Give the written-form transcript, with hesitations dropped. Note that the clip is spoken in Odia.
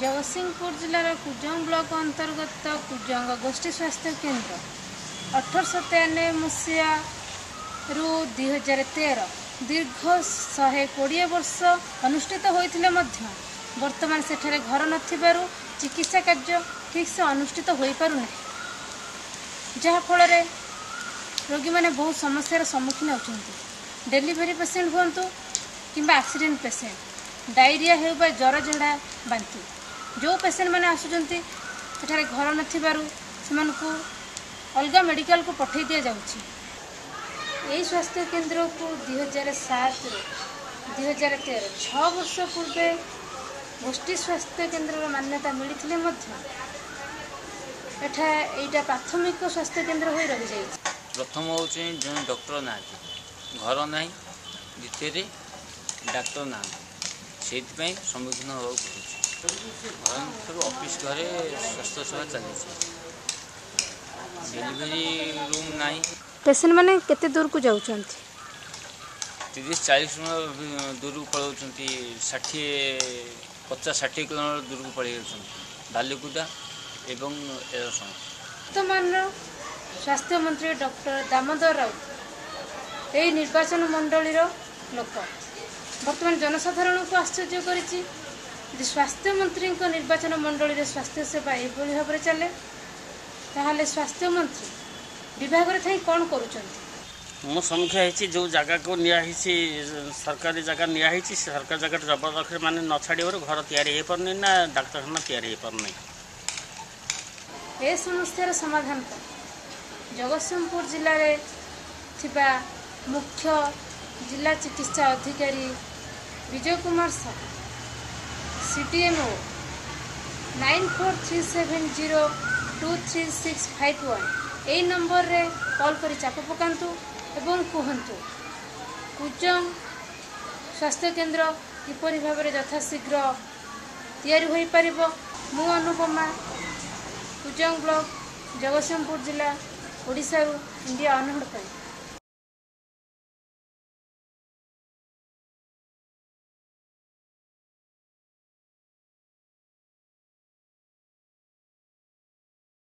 ଜଗତସିଂହପୁର ଜିଲ୍ଲାର କୁଜଙ୍ଗ ବ୍ଲକ ଅନ୍ତର୍ଗତ କୁଜଙ୍ଗ ଗୋଷ୍ଠୀ ସ୍ୱାସ୍ଥ୍ୟ କେନ୍ଦ୍ର 1893 ମସିହାରୁ 2013 ଦୀର୍ଘ 120 ବର୍ଷ ଅନୁଷ୍ଠିତ ହୋଇଥିଲେ ମଧ୍ୟ ବର୍ତ୍ତମାନ ସେଠାରେ ଘର ନଥିବାରୁ ଚିକିତ୍ସା କାର୍ଯ୍ୟ ଠିକ୍ସେ ଅନୁଷ୍ଠିତ ହୋଇପାରୁନାହିଁ, ଯାହାଫଳରେ ରୋଗୀମାନେ ବହୁତ ସମସ୍ୟାର ସମ୍ମୁଖୀନ ହେଉଛନ୍ତି। ଡେଲିଭରି ପେସେଣ୍ଟ ହୁଅନ୍ତୁ କିମ୍ବା ଆକ୍ସିଡେଣ୍ଟ ପେସେଣ୍ଟ, ଡାଇରିଆ ହେଉ ବା ଜ୍ୱର, ଝାଡ଼ା, ବାନ୍ତି, ଯେଉଁ ପେସେଣ୍ଟମାନେ ଆସୁଛନ୍ତି ସେଠାରେ ଘର ନଥିବାରୁ ସେମାନଙ୍କୁ ଅଲଗା ମେଡ଼ିକାଲକୁ ପଠାଇ ଦିଆଯାଉଛି। ଏହି ସ୍ୱାସ୍ଥ୍ୟ କେନ୍ଦ୍ରକୁ 2007ରୁ 2013, 6 ବର୍ଷ ପୂର୍ବେ ଗୋଷ୍ଠୀ ସ୍ୱାସ୍ଥ୍ୟ କେନ୍ଦ୍ରର ମାନ୍ୟତା ମିଳିଥିଲେ ମଧ୍ୟ ଏଠା ଏଇଟା ପ୍ରାଥମିକ ସ୍ୱାସ୍ଥ୍ୟ କେନ୍ଦ୍ର ହୋଇ ରହିଯାଇଛି। ପ୍ରଥମ ହେଉଛି ଜଣେ ଡକ୍ଟର ନାହାନ୍ତି, ଘର ନାହିଁ, ଦ୍ୱିତୀୟରେ ଡାକ୍ତର ନାହାନ୍ତି, ସେଇଥିପାଇଁ ସମ୍ମୁଖୀନ ହେବାକୁ ପଡ଼ୁଛି। ଘର ନଥିବାରୁ ଅଫିସ୍ ଘରେ ସ୍ୱାସ୍ଥ୍ୟ ସେବା ଚାଲିଛି, ଡେଲିଭରି ରୁମ୍ ନାହିଁ। ପେସେଣ୍ଟମାନେ କେତେ ଦୂରକୁ ଯାଉଛନ୍ତି? 30-40 ଦୂରକୁ ପଳାଉଛନ୍ତି, 60, 50-60 କିଲୋମିଟର ଦୂରକୁ ପଳେଇ ଯାଉଛନ୍ତି, ବାଲିକୁଦା ଏବଂ ଏରସମା। ବର୍ତ୍ତମାନର ସ୍ୱାସ୍ଥ୍ୟମନ୍ତ୍ରୀ ଡକ୍ଟର ଦାମୋଦର ରାଉତ ଏହି ନିର୍ବାଚନ ମଣ୍ଡଳୀର ଲୋକ। ବର୍ତ୍ତମାନ ଜନସାଧାରଣଙ୍କୁ ଆଶ୍ଚର୍ଯ୍ୟ କରିଛି ଯଦି ସ୍ୱାସ୍ଥ୍ୟମନ୍ତ୍ରୀଙ୍କ ନିର୍ବାଚନ ମଣ୍ଡଳୀରେ ସ୍ୱାସ୍ଥ୍ୟ ସେବା ଏଭଳି ଭାବରେ ଚାଲେ, ତାହେଲେ ସ୍ୱାସ୍ଥ୍ୟମନ୍ତ୍ରୀ ବିଭାଗରେ ଥାଇ କ'ଣ କରୁଛନ୍ତି? ମୁଁ ସମୀକ୍ଷା ହେଇଛି, ଯେଉଁ ଜାଗାକୁ ନିଆହେଇଛି, ସରକାରୀ ଜାଗା ନିଆହେଇଛି, ସେ ସରକାରୀ ଜାଗାଟା ଜବରଦଖଲ ମାନେ ନ ଛାଡ଼ିବାରୁ ଘର ତିଆରି ହେଇପାରୁନି ନା ଡାକ୍ତରଖାନା ତିଆରି ହେଇପାରୁନି। ଏ ସମସ୍ୟାର ସମାଧାନ ପାଇଁ ଜଗତସିଂହପୁର ଜିଲ୍ଲାରେ ଥିବା ମୁଖ୍ୟ ଜିଲ୍ଲା ଚିକିତ୍ସା ଅଧିକାରୀ ବିଜୟ କୁମାର ସାହୁ, CDMO 9437023651, ଏଇ ନମ୍ବରରେ କଲ୍ କରି ଚାପ ପକାନ୍ତୁ ଏବଂ କୁହନ୍ତୁ କୁଜଙ୍ଗ ସ୍ୱାସ୍ଥ୍ୟକେନ୍ଦ୍ର କିପରି ଭାବରେ ଯଥାଶୀଘ୍ର ତିଆରି ହୋଇପାରିବ। ମୁଁ ଅନୁପମା, କୁଜଙ୍ଗ ବ୍ଲକ, ଜଗତସିଂହପୁର ଜିଲ୍ଲା, ଓଡ଼ିଶାରୁ ଇଣ୍ଡିଆ ଅନହର୍ଡ ପାଇଁ।